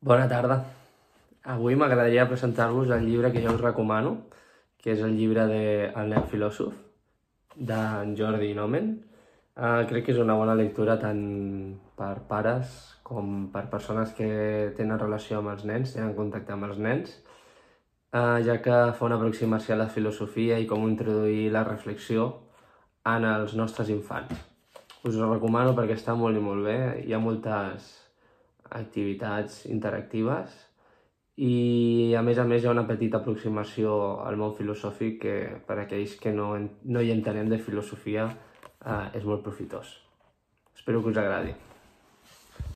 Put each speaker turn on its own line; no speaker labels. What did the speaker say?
Bona tarda. Avui m'agradaria presentar-vos el llibre que jo us recomano, que és el llibre de El nen filòsof, d'en Jordi Nomen. Crec que és una bona lectura tant per pares com per persones que tenen relació amb els nens, tenen contacte amb els nens, ja que fa una aproximació a la filosofia i com introduir la reflexió en els nostres infants. Us ho recomano perquè està molt i molt bé, hi ha moltes activitats interactives i a més hi ha una petita aproximació al món filosòfic que per a aquells que no hi entenem de filosofia és molt profitós. Espero que us agradi.